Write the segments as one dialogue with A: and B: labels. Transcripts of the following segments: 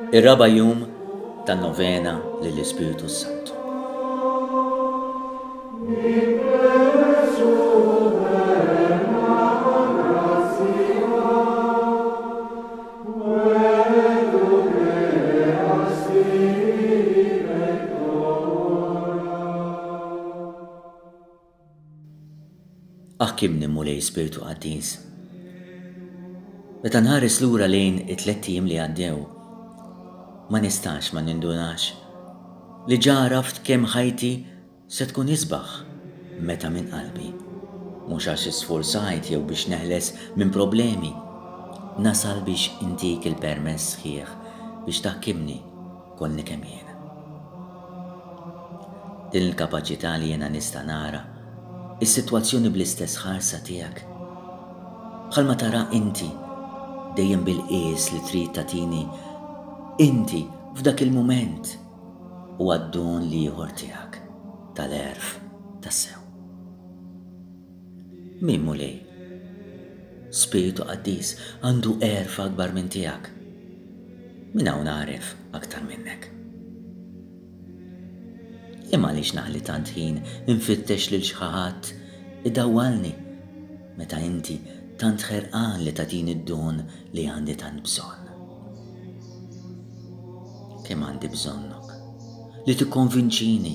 A: Ir-raba' jum tan-novena lill-Ispirtu s-Santu. Aħkimni Mulej Spirtu Qaddis. Meta nħares lura lejn it-tlett ijiem li għaddew, ma nistax ma nindunax li ġa għaraft kemm ħajti se tkun isbaħ meta minn qalbi, mhux għax isfurzajt jew biex neħles minn problemi, nasal biex intik il-permess sħiħ biex taħkimni kollni kemm jien. Din il-kapaċità li jiena nista' nara s-sitwazzjoni bl-istess ħarsa tiegħek, bħalma tara inti, dejjem bil-qies li trid tagħtini inti f'dak il-mument, huwa d-don l-ieħor tiegħek tal-għerf tassew. Min, Mulej? Spirtu Qaddis għandu għerf akbar minn tiegħek. Min hawn għaref aktar minnek? Imma għaliex naħli tant ħin infittex lil xi ħadd idawwalni meta inti tant ħerqan li tagħtini d-don li għandi tant bżonn? Kemm għandi bżonnok li tikkonvinċini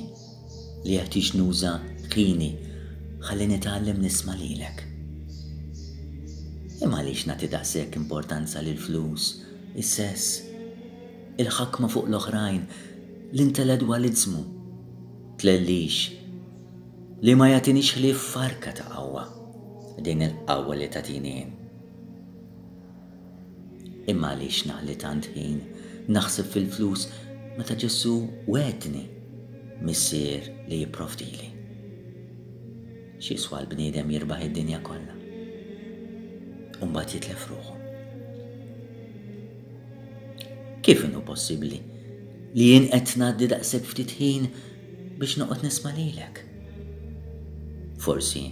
A: li jeħtieġ nuża ħini ħalli nitgħallem nisma' lilek. Imma għaliex nagħti daqshekk importanza lill-flus, is-sess, il-ħakma fuq l-oħrajn, l-intellettwaliżmu, tlellix, li ma jagħtinix ħlief farka ta' qawwa, din il-qawwa li tagħtini jien. Imma għaliex naħli tant ħin naħseb fil-flus meta Ġesù wegħedni Missier li jipprovdili? X'jiswa l-bniedem jirbaħ id-dinja kollha u mbagħad jitlef ruħu? Kif inhu possibbli li jien qed ngħaddi daqshekk ftit ħin biex noqgħod nisma' lilek? Forsi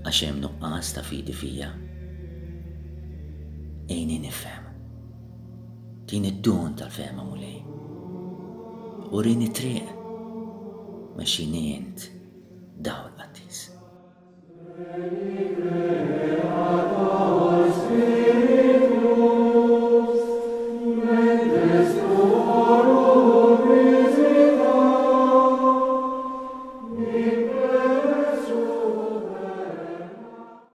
A: għax hemm nuqqas ta' fidi fija. Għinni nifhem. Tini d-don tal-fehma Mulej. Urini t-triq. Mexxini int dawl qaddis.